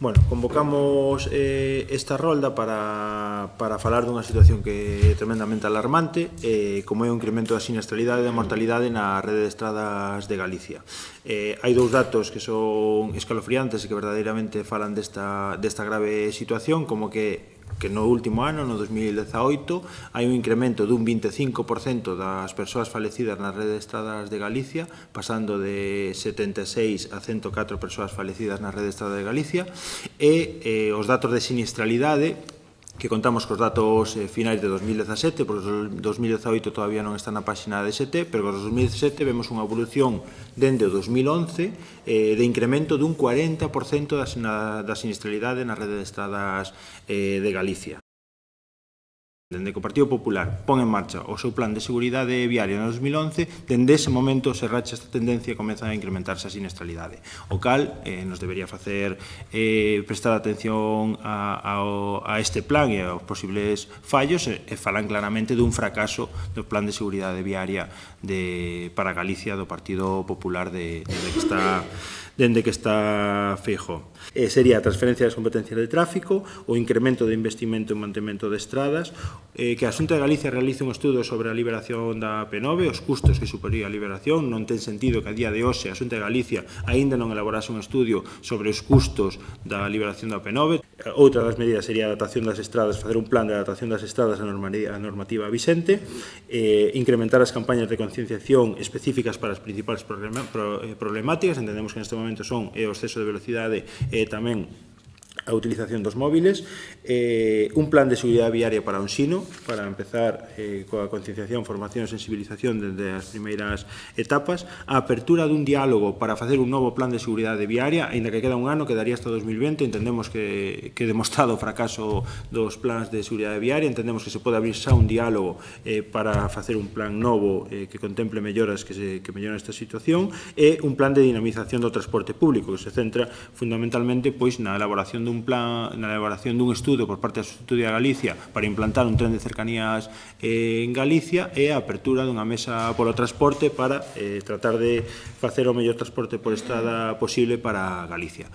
Bueno, convocamos esta rolda para falar dunha situación que é tremendamente alarmante, como é o incremento da sinistralidade e da mortalidade na rede de estradas de Galicia. Hai dous datos que son escalofriantes e que verdadeiramente falan desta grave situación, como que no último ano, no 2018, hai un incremento dun 25% das persoas falecidas na rede de estradas de Galicia, pasando de 76 a 104 persoas falecidas na rede de estradas de Galicia, e os datos de sinistralidade, que contamos cos datos finais de 2017, porque os 2018 todavía non está na páxina de ST, pero cos 2017 vemos unha evolución dende o 2011 de incremento dun 40% da sinistralidade na rede de estradas de Galicia. Dende que o Partido Popular pon en marcha o seu plan de seguridade viaria no 2011, dende ese momento se racha esta tendencia e comeza a incrementarse a sinistralidade, o cal nos debería facer prestar atención a este plan e aos posibles fallos e falan claramente dun fracaso do plan de seguridade viaria para Galicia do Partido Popular dende que está Feijóo. Sería a transferencia das competencias de tráfico, o incremento de investimento e mantemento de estradas, que a Xunta de Galicia realice un estudo sobre a liberación da P9, os custos que suporía a liberación. Non ten sentido que a día de hoxe a Xunta de Galicia aínda non elaborase un estudio sobre os custos da liberación da P9. Outra das medidas sería a adaptación das estradas, facer un plan de adaptación das estradas á normativa vigente, incrementar as campañas de concienciación específicas para as principais problemáticas. Entendemos que neste momento son o exceso de velocidade e tamén a utilización dos móviles, un plan de seguridade viaria para o ensino, para empezar coa concienciación, formación e sensibilización desde as primeiras etapas, a apertura dun diálogo para facer un novo plan de seguridade viaria, aínda que queda un ano, quedaría hasta 2020, entendemos que demostrado o fracaso dos plans de seguridade viaria, entendemos que se pode abrir xa un diálogo para facer un plan novo que contemple melloras que melloren esta situación, e un plan de dinamización do transporte público, que se centra fundamentalmente na elaboración dun estudo por parte da Xunta de Galicia para implantar un tren de cercanías en Galicia e a apertura dunha mesa polo transporte para tratar de facer o mellor transporte por estrada posible para Galicia.